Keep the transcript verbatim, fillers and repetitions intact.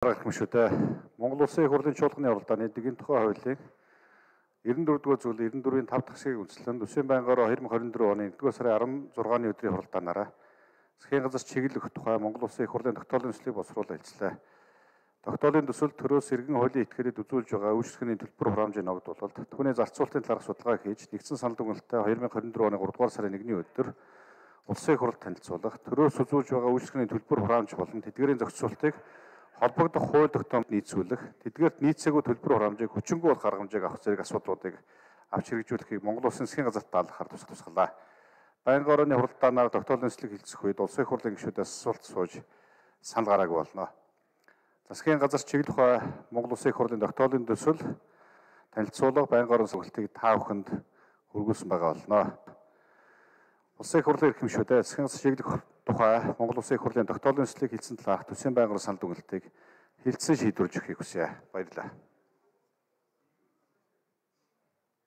Гэмшүүдээ Монгол Улсын их хурлын чуулганы уралдааны эдийн тухай хуулийн эрдэнэ дөрөвдүгээр зүйл эрдэнэ дөрвийн тав дахь хэсгийг үндэслэн Төсвийн байнгаараа хоёр мың хорин дөрөв оны нэгдүгээр сарын арван зургааны өдрийн хуралдаанаараа засгийн газар чиглэх тухай Монгол Улсын их хурлын тогтоолын төслийг боловсруулан хэлцлээ. Тогтоолын төсөл төрөөс иргэн хуулийн этгээдэд үзүүлж байгаа үйлчлэгээний төлбөр хураамжийн ногдуулалт, түүний зарцуулалтын талаарх судалгаа хийж нэгдсэн санал дүгнэлтээ хоёр мың хорин дөрөв оны гуравдугаар сарын нэгний өдөр Улсын их хурлд танилцуулах, төрөөс үзүүлж байгаа үйлчлэгээний төлбөр хураамж болон тэдгээрийн зохицуултыг холбогдох хууль тогтоомд нийцүүлэх, тэдгээрт нийцээгүй төлбөр хураамжийг хүчингүй болох арга хэмжээг авах зэрэг асуудлуудыг авч хэрэгжүүлэхийг Монгол Улсын засгийн газарт даалгахаар тусах тусгалаа. Байнгын орооны хуралдаанаар тогтоолын төслийг хэлцэх үед Улсын их хурлын гишүүдээс асуулт сууж санал гараагүй болно. Засгийн газар чиглэх ухаан Монгол Улсын их хурлын тогтоолын төсөл танилцуулга байнгын орон сүлжээг та бүхэнд хүргүүлсэн байгаа болно. Улсын их хурлын эрхэм гишүүдээ засгийн газар чиглэх тухай Монгол Улсын их хурлын тогтоолын төслийг хэлсэн талаарх Төсвийн байнгын орон санал дүгнэлтийг хэлтсэн шийдвэрлэж өгөхийг хүсье. Баярлалаа.